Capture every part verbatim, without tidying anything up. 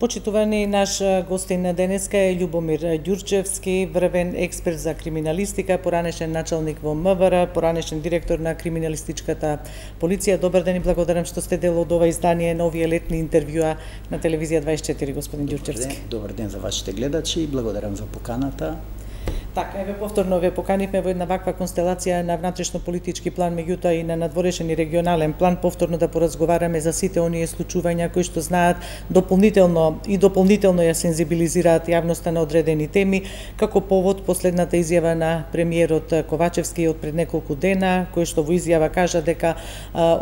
Почитувани, наш гостин денеска е Љубомир Ѓурчевски, врвен експерт за криминалистика, поранешен началник во М В Р, поранешен директор на криминалистичката полиција. Добар ден и благодарам што сте дел од ова издание на овие летни интервјуа на телевизија дваесет и четири, господин Ѓурчевски. Добар ден за вашите гледачи и благодарам за поканата. Така, еве повторно ве поканивме во една ваква констелација на внатрешно-политички план, меѓутоа и на надворешен и регионален план, повторно да поразговараме за сите оние случувања кои што знаат дополнително и дополнително ја сензибилизираат јавноста на одредени теми, како повод последната изјава на премиерот Ковачевски од пред неколку дена, кој што во изјава кажа дека а,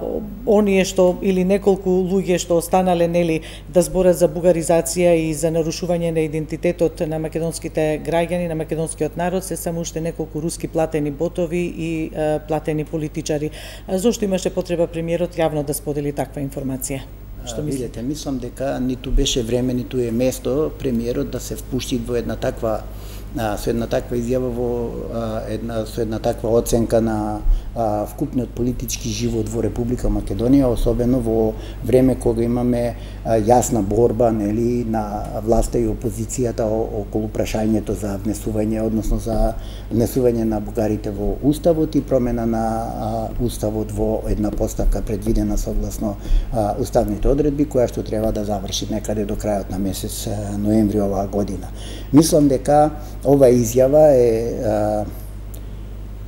оние што или неколку луѓе што останале нели да зборат за бугаризација и за нарушување на идентитетот на македонските граѓани, на македонскиот народ се само уште неколку руски платени ботови и е, платени политичари. А зошто имаше потреба премиерот јавно да сподели таква информација? Што мислите? Мислам дека ниту беше време, ниту е место премиерот да се впушти во една таква а, со една таква изјава во а, една со една таква оценка на а, вкупниот политички живот во Република Македонија, особено во време кога имаме а, јасна борба нели на власта и опозицијата околу прашањето за внесување, односно за внесување на бугарите во уставот и промена на а, уставот во една поставка предвидена согласно а, уставните одредби, која што треба да заврши некаде до крајот на месец а, ноември оваа година. Мислам дека ова изјава е а,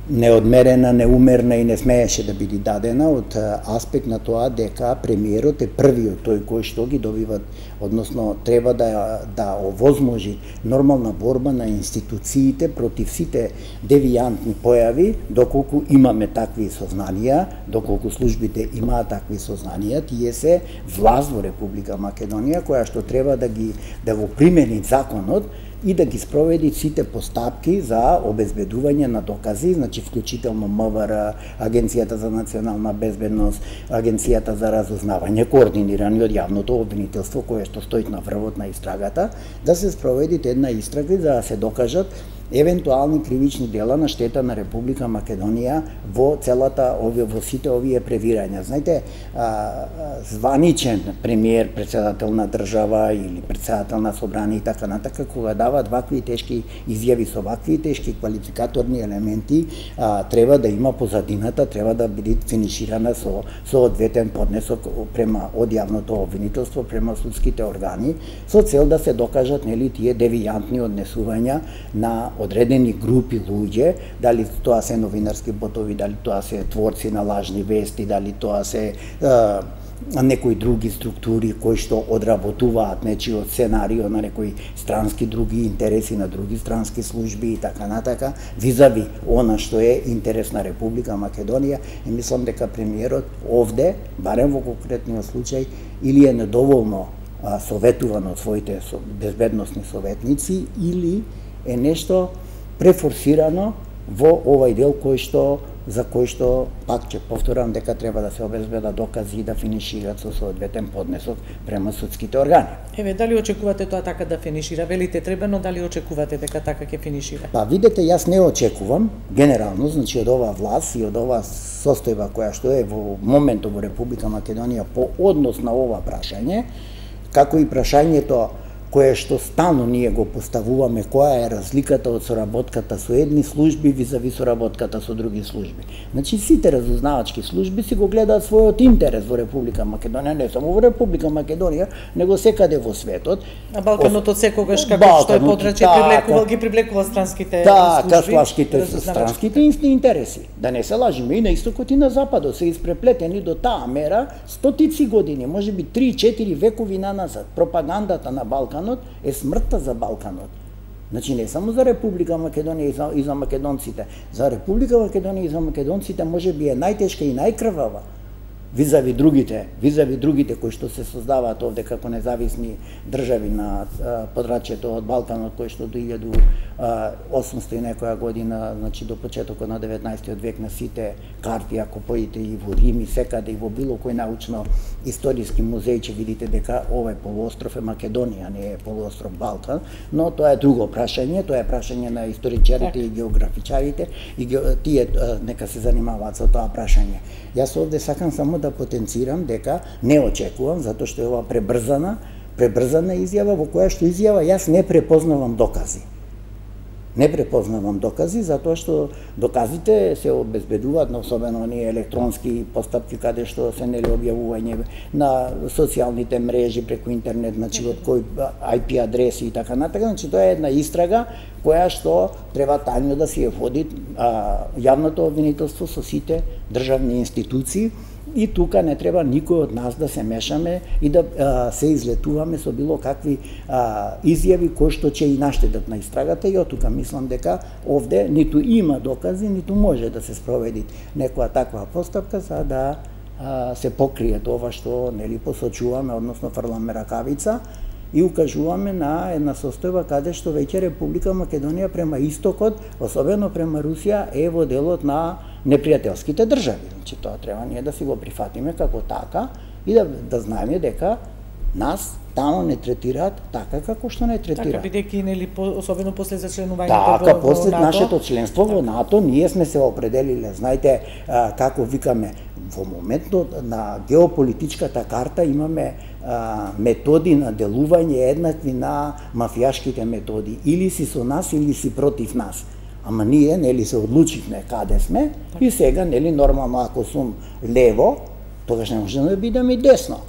неодмерена, неумерна и не смееше да биде дадена од аспект на тоа дека премиерот е првиот тој кој што ги добива, односно треба да да овозможи нормална борба на институциите против сите девијантни појави, доколку имаме такви сознанија, доколку службите имаат такви сознанија, тие се власт во Република Македонија која што треба да ги да го примени законот и да ги спроведи сите постапки за обезбедување на докази, значи вклучително М В Р, Агенцијата за национална безбедност, Агенцијата за разузнавање, координирани од јавното обвинителство кое што стои на врвот на истрагата, да се спроведи една истрага за да се докажат евентуални кривични дела на штета на Република Македонија во целата овие во сите овие превирања. Знаете, а, званичен премиер, председател на држава или председател на собрание и така натака, кога дават вакви тешки изјави со вакви тешки квалификаторни елементи, а, треба да има позадината, треба да биде финиширана со со одветен поднесок према од јавното обвинителство према судските органи со цел да се докажат нели тие девијантни однесувања на одредени групи луѓе, дали тоа се новинарски ботови, дали тоа се творци на лажни вести, дали тоа се е, некои други структури кои што одработуваат нечиот сценарио на некои странски други интереси на други странски служби и така натака, визави она што е интерес на Република Македонија. И мислам дека премиерот овде, барем во конкретниот случај, или е недоволно а, советуван од своите безбедносни советници, или е нешто префорсирано во овај дел кој што за кој што пак ќе повторам дека треба да се обезбедат докази и да финишираат со соодветен поднесок према судските органи. Еве, дали очекувате тоа така да финишира? Велите треба, но дали очекувате дека така ќе финишира? Па видете, јас не очекувам генерално, значи од оваа власт и од оваа состојба која што е во моментот во Република Македонија по однос на ова прашање, како и прашањето кое што стално ние го поставуваме, која е разликата од соработката со едни служби визави соработката со други служби. Значи сите разузнавачки служби си го гледаат својот интерес во Република Македонија, не само во Република Македонија, него секаде во светот. А Балканот од секогаш како што е подрачје привлекувал ги привлекува странските да, служби. Да, кашлашките странските интереси. Да не се лажиме, и на истокот и на западот се испреплетени до таа мера стотици години, можеби три-четири векови наназад. Пропагандата на Балкан е смртта за Балканот. Значи не само за Република Македонија и за, и за македонците. За Република Македонија и за македонците може би е најтешка и најкрвава визави другите, визави другите кои што се создаваат овде како независни држави на подрачјето од Балканот, кои што до илјаду осумстотини и некоја година, значи до почетокот на деветнаесеттиот век на сите карти, ако поидете и во Рим и секаде и во било кој научно историски музеј ќе видите дека овој полуостров е Македонија, не е полуостров Балкан, но тоа е друго прашање, тоа е прашање на историчарите и географичарите и тие нека се занимаваат со тоа прашање. Јас овде сакам само да потенцирам дека не очекувам, затоа што е ова пребрзана пребрзана изјава во која што изјава јас не препознавам докази. Не препознавам докази, затоа што доказите се обезбедуваат на особено оние електронски постапки каде што се нели објавување на социјалните мрежи преку интернет, значи од кој ај пи адреси и така натаму, значи тоа е една истрага која што треба тајно да си ја води а, јавното обвинителство со сите државни институции. И тука не треба никој од нас да се мешаме и да а, се излетуваме со било какви а, изјави кои што ќе и наштедат на истрагата, и од тука мислам дека овде ниту има докази, ниту може да се спроведи некоја таква постапка за да а, се покрие тоа што нели посочуваме, односно фрламе ракавица и укажуваме на една состојба каде што веќе Република Македонија према истокот, особено према Русија, е во делот на непријателските држави. Значи тоа треба ние да си го прифатиме како така и да, да знаеме дека нас тамо не третираат така како што не третираат. Така бидејќи нели особено после зачленувањето така, во, после во НАТО. нашето членство во НАТО, ние сме се определиле, знаете, а, како викаме, во моментот на геополитичката карта имаме а, методи на делување еднакви на мафијашките методи. Или си со нас, или си против нас. Ама ние, нели, се одлучивме каде сме и сега, нели, нормално, ако сум лево, тогаш не може да бидам и десно.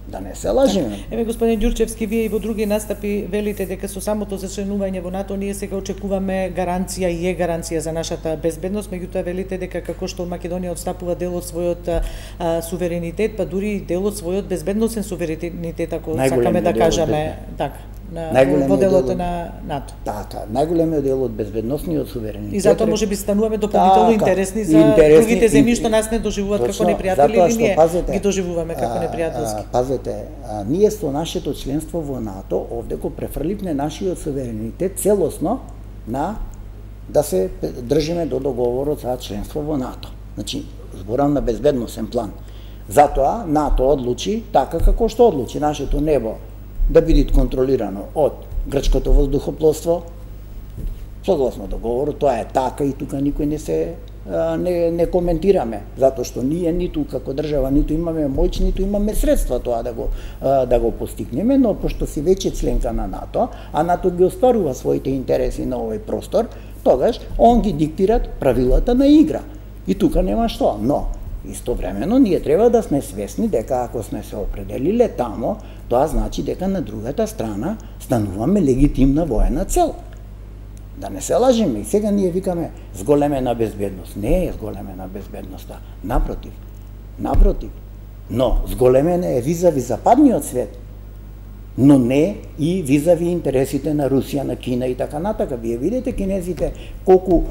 Да не се лажиме. Еве, господин Ѓурчевски, вие и во други настапи велите дека со самото зачленување во НАТО ние сега очекуваме гаранција и е гаранција за нашата безбедност, меѓутоа велите дека како што Македонија отстапува дел од својот а, суверенитет, па дури дел од својот безбедносен суверенитет, ако сакаме да кажеме така. На, во делот на НАТО. Така, најголемиот дел од безбедносниот суверенитет. И затоа може би стануваме дополнително така, интересни за интересни, другите земји што нас не доживуваат точно, како непријатели или ние пазете, ги доживуваме како непријателски. Пазете, а, ние со нашето членство во НАТО овде го префрливме нашиот суверенитет целосно на да се држиме до договорот за членство во НАТО. Значи, зборам на безбедносен план. Затоа НАТО одлучи така како што одлучи нашето небо да биде контролирано од грчкото воздухопловство, согласно договорот, тоа е така и тука никој не се не, не коментираме, затоа што ние ниту како држава ниту имаме моќ, ниту имаме средства тоа да го да го постигнеме, но пошто си веќе членка на НАТО, а НАТО ги остварува своите интереси на овој простор, тогаш он ги диктират правилата на игра. И тука нема што, но истовремено ние треба да сме свесни дека ако сме се определиле тамо, тоа значи дека на другата страна стануваме легитимна воена цел. Да не се лажиме, и сега ние викаме зголемена безбедност. Не е зголемена безбедноста, напротив. Напротив. Но зголемена е визави западниот свет, но не и визави интересите на Русија, на Кина и така натака. Вие видите кинезите колку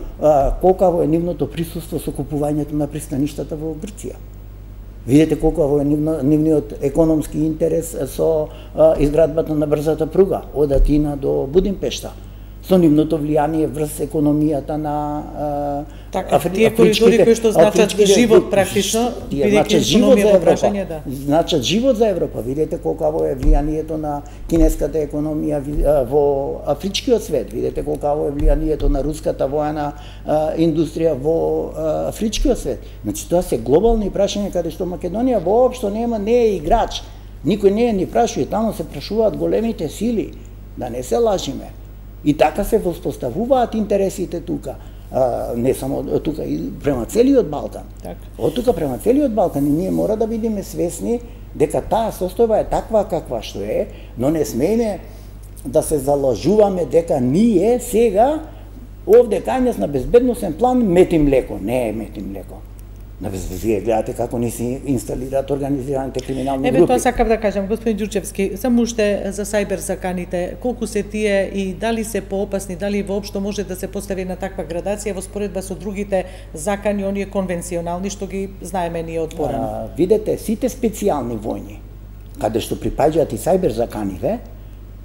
колкаво е нивното присуство со купувањето на пристаништата во Грција. Видите колку е нивниот економски интерес со а, изградбата на брзата пруга од Атина до Будимпешта, со нивното влијание врз економијата на а, така, афри, тие коридори кои што значат живот практично, бидејќи економија во прашање, да. Значат живот за Европа. Видите колку е влијанието на кинеската економија во афричкиот свет. Видите колку е влијанието на руската воена а, индустрија во а, афричкиот свет. Значи тоа се глобални прашања каде што Македонија воопшто нема, не е играч. Никој не е ни прашува, таму се прашуваат големите сили. Да не се лажиме. И така се воспоставуваат интересите тука. А, не само тука, и према целиот Балкан. Так. Од тука према целиот Балкан, и ние мора да бидеме свесни дека таа состојба е таква каква што е, но не смееме да се залажуваме дека ние сега овде кај нас на безбедносен план метим леко. Не е метим леко. На вие гледате како ни се инсталираат организираните криминални Еве, групи. Еве тоа сакав да кажам, господин Ѓурчевски, само уште за сајбер заканите, колку се тие и дали се поопасни, дали воопшто може да се постави на таква градација во споредба со другите закани, оние конвенционални што ги знаеме ние од порано? Видете, сите специјални војни, каде што припаѓаат и сајбер заканите,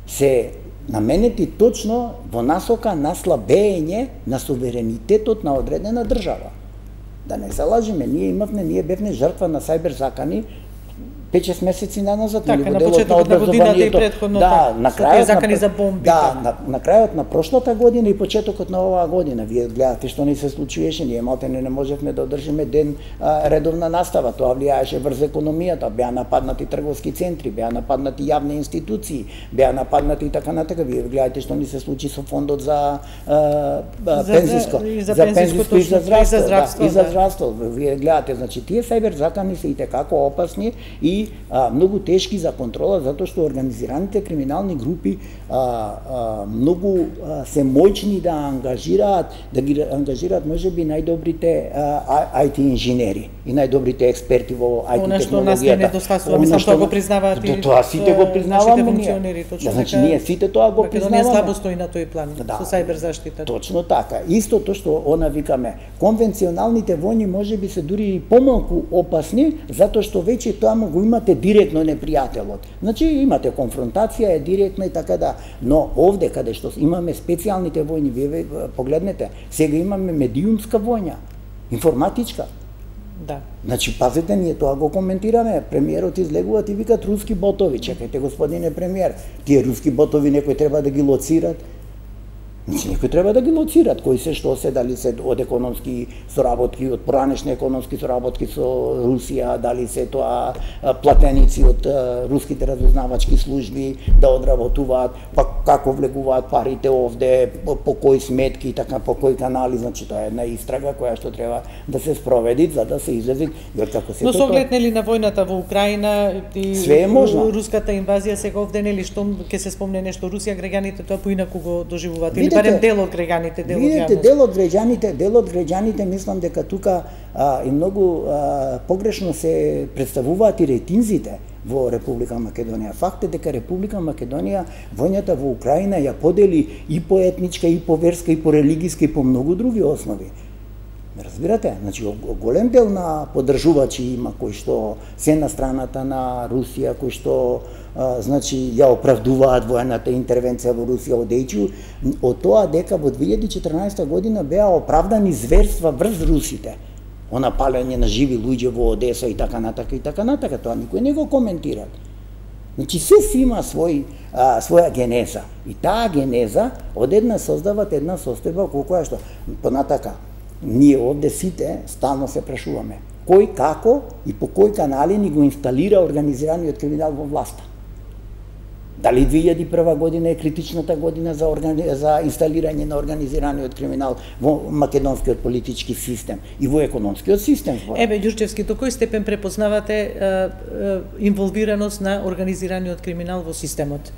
се наменети точно во насока на слабење на суверенитетот на одредена држава. Да не се лажиме, ние имавме, ние бевме жртва на сајбер закани пет-шест месеци наназад, така, или на делот почетокот на годината и предходно, да, на крајот закани на, за бомби. Да, на, на крајот на прошлата година и почетокот на оваа година. Вие гледате што ни се случуваше, ние малтене не можевме да одржиме ден а, редовна настава, тоа влијаеше врз економијата, беа нападнати трговски центри, беа нападнати јавни институции, беа нападнати и така натака. Вие гледате што ни се случи со фондот за а, а, за, пензиско, за, за пензиско и за здравство, и за здравство, да, и за да. здравство. Вие гледате, значи тие сајбер закани се и текако опасни и а, многу тешки за контрола, затоа што организираните криминални групи а, а, многу а, се моćни да ангажираат, да ги ангажираат можеби најдобрите ај ти инженери и најдобрите експерти во ај ти Она што нас не технологијата. недостасува, мислам тоа го признаваат и тоа сите го признаваме функционери, точно значи така. ние сите тоа го Македонија признаваме. слабо стои на тој план Да. со сајбер заштита. Точно така. Истото што она викаме, конвенционалните војни можеби се дури и помалку опасни, затоа што веќе таму го имате директно непријателот. Значи имате конфронтација е директна и така да, но овде каде што имаме специјалните војни, вие погледнете, сега имаме медиумска војна, информатичка. Да. Значи, пазете, ние тоа го коментираме. Премиерот излегуваат и викат руски ботови. Чекајте, господине премиер, тие руски ботови некој треба да ги лоцират. Значи, некој треба да ги лоцират, кои се што се, дали се од економски соработки, од поранешни економски соработки со Русија, дали се тоа платеници од руските разузнавачки служби да одработуваат, па како влегуваат парите овде, по, по кои сметки, така по кои канали, значи тоа е една истрага која што треба да се спроведи за да се излези, јер како се. Но со оглед нели на војната во Украина и све е можно. Руската инвазија сега овде нели што ќе се спомне нешто Русија, граѓаните тоа поинаку го доживуваат или барем дел од граѓаните, дел од Видете, јавноста. дел од граѓаните, дел од граѓаните мислам дека тука а, и многу а, погрешно се представуваат и рейтинзите во Република Македонија. Факт е дека Република Македонија војната во Украина ја подели и по етничка, и по верска, и по религиска, и по многу други основи. Разбирате? Значи, голем дел на поддржувачи има кои што се на страната на Русија, кои што а, значи ја оправдуваат воената интервенција во Русија, одејќи од тоа дека во две илјади и четрнаесета година беа оправдани зверства врз русите. Она палење на живи луѓе во Одеса и така натака и така натака, тоа никој не го коментира. Значи се си има свој а, своја генеза и таа генеза одедна создават една состојба која што понатака ние овде сите стално се прашуваме кој, како и по кои канали ни го инсталира организираниот криминал во власта. Дали две илјади и прва година е критичната година за, органи... за инсталирање на организираниот криминал во македонскиот политички систем и во економскиот систем? Еве, Ѓурчевски, до кој степен препознавате е, е, инволвираност на организираниот криминал во системот?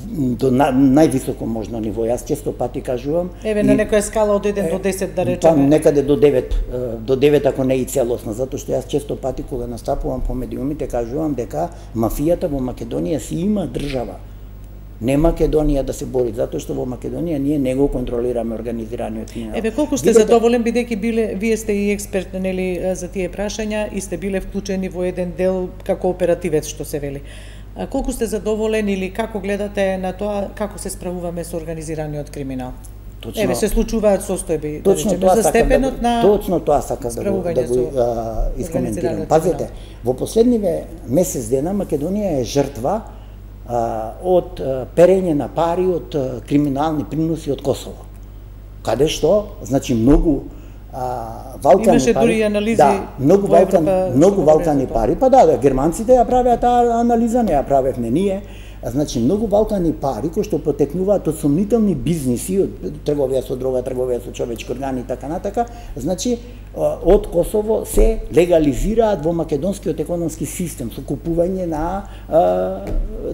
До на, највисоко можно ниво. Јас често пати кажувам. Еве на некоја скала од еден до десет да речеме. Па некаде до девет, до девет ако не и целосно, затоа што јас често пати кога настапувам по медиумите кажувам дека мафијата во Македонија си има држава. Не Македонија да се бори, затоа што во Македонија ние не го контролираме организираниот криминал. Еве, колку сте Видете... задоволен бидејќи биле вие сте и експерт нели за тие прашања и сте биле вклучени во еден дел како оперативец што се вели. А колку сте задоволен или како гледате на тоа како се справуваме со организираниот криминал? Точно, Еве се случуваат состојби, точно да тоа за степенот да, на точно тоа сакам да го да го а, искоментирам. Пазете, во последниве месец дена Македонија е жртва а, од а, перење на пари од а, криминални приноси од Косово. Каде што, значи многу а, валкани Имаше пари. дури анализи. Да, многу валкани, Европа, многу валкани пари. Па да, да, германците ја правеа таа анализа, не ја правевме ние. Значи многу валкани пари кои што потекнуваат од сомнителни бизниси, од трговија со дрога, трговија со човечки органи и така натака, значи од Косово се легализираат во македонскиот економски систем со купување на а,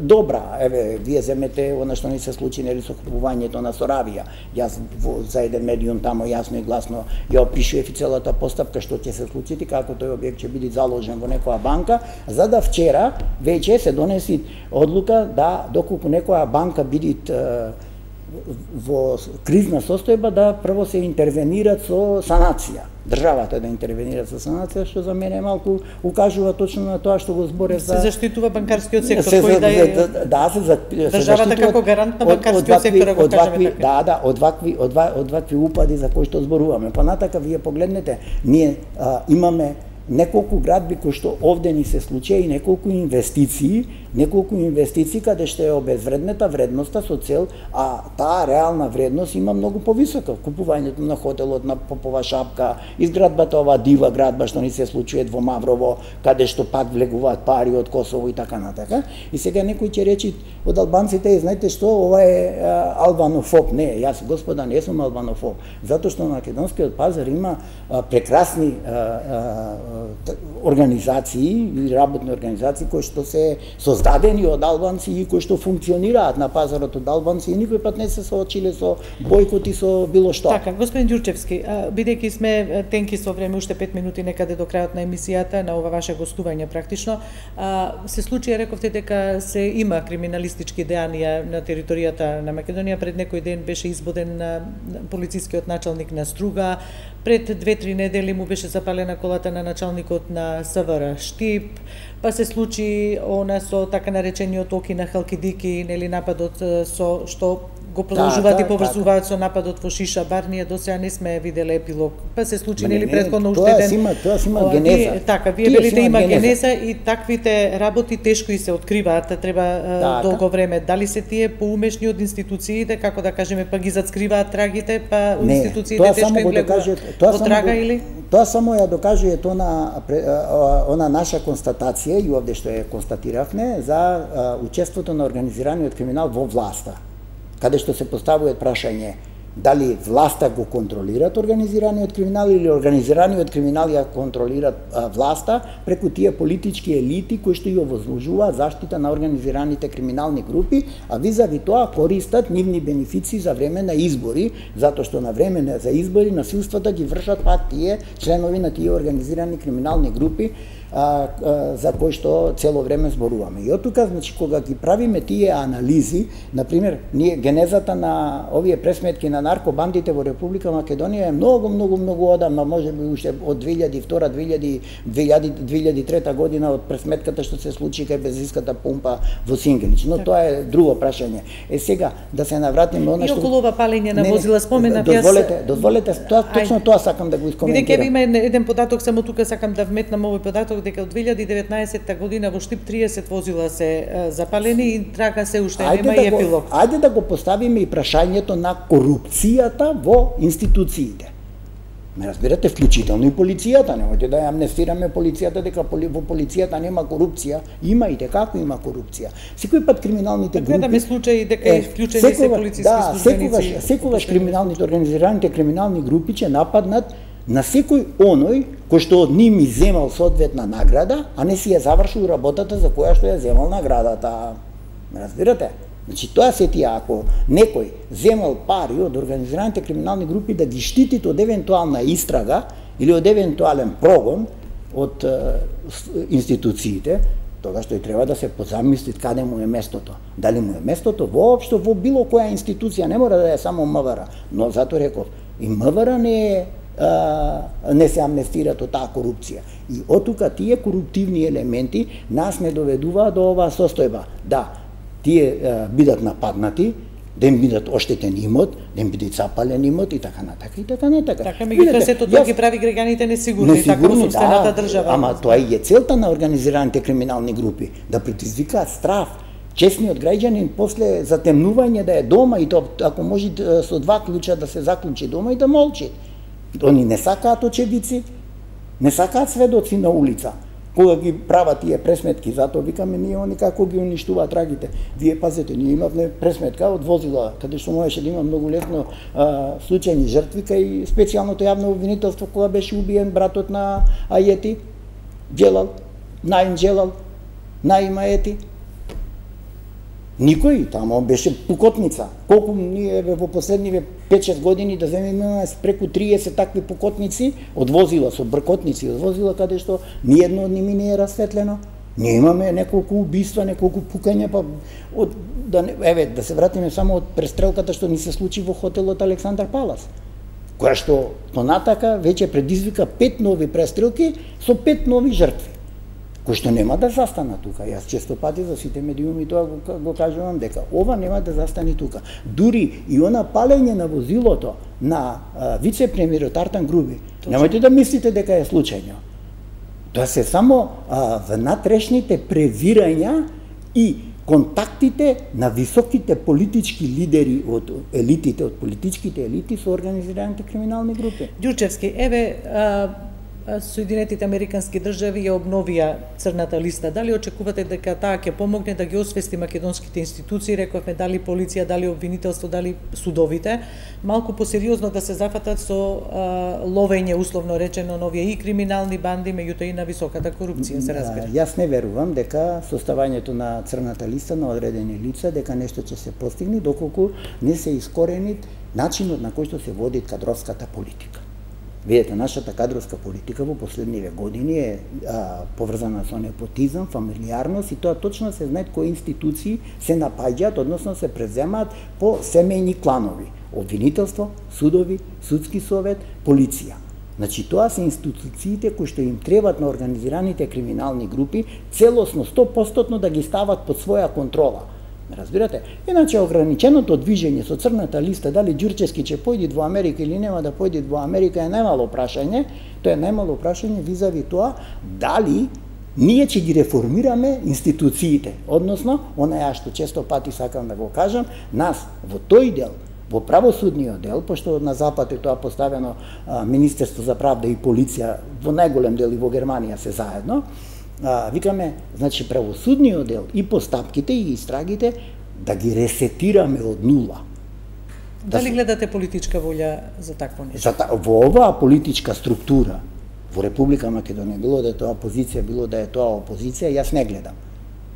добра. Еве, вие земете она што ни се случи нели со купувањето на Соравија. Јас во, за еден медиум тамо јасно и гласно ја опишував и целата постапка што ќе се случи и како тој објект ќе биде заложен во некоја банка, за да вчера веќе се донеси одлука да доколку некоја банка биде во кризна состојба да прво се интервенира со санација. Државата да интервенира со санација, што за мене малку укажува точно на тоа што го зборев за... Се заштитува банкарскиот сектор, се, кој да е... Да, да се, за, државата како гарант на банкарскиот сектор, ако кажеме така. Да, да, од вакви, од, од вакви упади за кои што зборуваме. Понатака, вие погледнете, ние а, имаме неколку градби кои што овде ни се случија и неколку инвестиции, неколку инвестиции каде што е обезвреднета вредноста со цел, а таа реална вредност има многу повисока. Купувањето на хотелот на Попова шапка, изградбата ова дива градба што ни се случува во Маврово, каде што пак влегуваат пари од Косово и така натака. И сега некој ќе речи од албанците, е, знаете што, ова е а, албанофоб. Не, јас господа не сум албанофоб, затоа што на македонскиот пазар има а, прекрасни а, а, организации и работни организации кои што се создадени од албанци и кои што функционираат на пазарот од албанци и никој пат не се соочиле со бојкот и со било што. Така, господин Ѓурчевски, бидејќи сме тенки со време, уште пет минути некаде до крајот на емисијата, на ова ваше гостување практично, се случи, рековте дека се има криминалистички дејанија на територијата на Македонија. Пред некој ден беше избоден полицискиот началник на Струга, пред две-три недели му беше запалена колата на началникот на СВР Штип, па се случи она со така наречениот Оки на Халкидики, нели нападот со што го продолжуваат да, и поврзуваат да, со нападот во Шиша бар, ние до сега не сме виделе епилог. Па се случи нели претходно уште ден. Тоа има, тоа има генеза. Вие, така, вие велите има генеза. генеза и таквите работи тешко и се откриваат, треба така. долго време. Дали се тие поумешни од институциите, како да кажеме, па ги зацкриваат трагите, па не, институциите тешко им влегуваат во трага го, или? Тоа само ја докажува она она наша констатација и овде што ја констатиравме за учеството на организираниот криминал во власта, каде што се поставува прашање дали власта го контролират организираниот криминал или организираниот криминал ја контролират а, власта преку тие политички елити кои што ја возложуваат заштита на организираните криминални групи, а визави тоа користат нивни бенефиции за време на избори, затоа што на време за избори насилствата ги вршат пак тие членови на тие организирани криминални групи, а, а, за кои што цело време зборуваме. И оттука, значи, кога ги правиме тие анализи, например, ние генезата на овие пресметки на наркобандите во Република Македонија е многу, многу, многу одамна, може би уште од две илјади и втора две илјади две илјади и трета година од пресметката што се случи кај бензинската пумпа во Сингелич. Но тоа е друго прашање. Е сега да се навратиме она што... И околу ова палење на возила споменав јас... Дозволете, дозволете, тоа, точно тоа сакам да го искоментирам. Бидејќи има еден податок, само тука сакам да вметнам овој податок, дека од две илјади и деветнаесетта година во Штип триесет возила се запалени и трага се уште нема и епилог. Ајде да го поставиме и прашањето на корупцијата во институциите. Ме разбирате, вклучително и полицијата, немојте да ја амнестираме полицијата дека во полицијата нема корупција, има и како има корупција. Секој пат криминалните групи... Гледаме случаи дека е вклучени се полициски да, службеници. Секогаш, секогаш криминалните, организираните криминални групи ќе нападнат на секој оној кој што од нив ми земал соодветна награда, а не си ја завршил работата за која што ја земал наградата. Разбирате? Значи тоа се тие, ако некој земал пари од организираните криминални групи да ги штити од евентуална истрага или од евентуален прогон од е, институциите, тогаш тој треба да се позамисли каде му е местото. Дали му е местото воопшто во било која институција, не мора да е само МВР, но затоа реков, и МВР не е а, не се амнестираат од таа корупција. И оттука тие коруптивни елементи нас не доведуваат до оваа состојба. Да, тие а, бидат нападнати, да им бидат оштетен имот, да им биде запален имот и така натака и така натака. Така, меѓутоа сето тоа ги прави граѓаните несигурни, така во собствената да, држава. Ама тоа и е целта на организираните криминални групи, да предизвикаат страв. Честниот граѓанин после затемнување да е дома и тоа ако може со два клуча да се заклучи дома и да молчи. Они не сакаат очевидци, не сакаат сведоци на улица. Кога ги прават тие пресметки, затоа викаме ние они како ги уништуваат трагите. Вие пазете, ние имавме пресметка од возила, каде што можеше да има многу лесно а, случајни жртви кај специјалното јавно обвинителство кога беше убиен братот на Ајети, Джелал, Наим Джелал, Наим Ајети. Никој, тамо беше пукотница. Колку ние во последниве пет-шест години да земеме преку триесет такви пукотници од возила, со бркотници од возила, каде што ниедно од ними не е расветлено. Ние имаме неколку убиства, неколку пукања, па од да еве да се вратиме само од престрелката што ни се случи во хотелот Александар Палас, која што понатака веќе предизвика пет нови престрелки со пет нови жртви, кој што нема да застана тука. Јас често пати за сите медиуми тоа го, го кажувам дека ова нема да застане тука. Дури и она палење на возилото на вице-премиерот Артан Груби, немојте да мислите дека е случајно. Тоа се само а, внатрешните превирања и контактите на високите политички лидери од елитите, од политичките елити со организираните криминални групи. Ѓурчевски, еве, а, Соединетите Американски држави ја обновија црната листа. Дали очекувате дека таа ќе помогне да ги освести македонските институции, рековме, дали полиција, дали обвинителство, дали судовите, малку посериозно да се зафатат со а, ловење, условно речено, на овие и криминални банди, меѓутоа и на високата корупција, се разбира? Јас не верувам дека составањето на црната листа на одредени лица, дека нешто ќе се постигне, доколку не се искорени начинот на кој што се води кадровската политика. Видете, нашата кадровска политика во последниве години е а, поврзана со непотизам, фамилиарност и тоа точно се знае кои институции се напаѓаат, односно се преземаат по семејни кланови. Обвинителство, судови, судски совет, полиција. Значи, тоа се институциите кои што им требаат на организираните криминални групи целосно, сто проценти да ги стават под своја контрола. Разбирате? Иначе ограниченото движење со црната листа, дали Ѓурчевски ќе појде во Америка или нема да појде во Америка е најмало прашање, тоа е најмало прашање визави тоа дали ние ќе ги реформираме институциите, односно, онаја што често пати сакам да го кажам, нас во тој дел, во правосудниот дел, пошто на запад е тоа поставено а, Министерство за правда и полиција, во најголем дел и во Германија се заедно, А, викаме, значи, правосудниот дел и постапките и истрагите да ги ресетираме од нула. Дали да гледате политичка волја за такво нешто? За, во оваа политичка структура во Република Македонија, било да е тоа опозиција, било да е тоа опозиција, јас не гледам.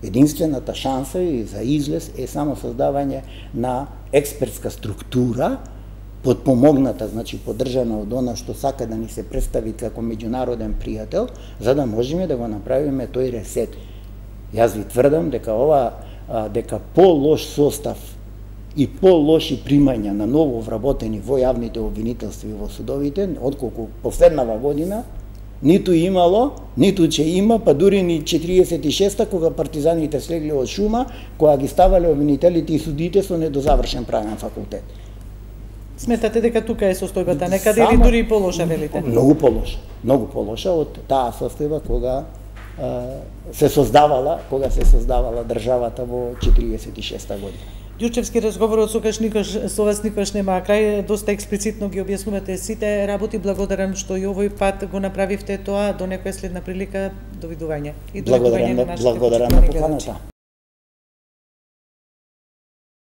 Единствената шанса и за излез е само создавање на експертска структура, подпомогната, значи поддржана од она што сака да ни се представи како меѓународен пријател, за да можеме да го направиме тој ресет. Јас ви тврдам дека ова дека по-лош состав и по-лоши примања на ново вработени во јавните обвинителства и во судовите, отколку последнава година, ниту имало, ниту ќе има, па дури ни четириесет и шеста кога партизаните слегле од шума, кога ги ставале обвинителите и судите со недозавршен правен факултет. Сметате дека тука е состојбата некаде или дури и полоша, велите? Многу полоша, многу полоша од таа состојба кога а, се создавала, кога се создавала државата во четириесет и шеста година. Ѓурчевски, разговорот со никош со вас никош нема крај, доста експлицитно ги објаснувате сите работи. Благодарам што и овој пат го направивте тоа. До некоја следна прилика, довидување. И довидување на нашите благодарам на поканата.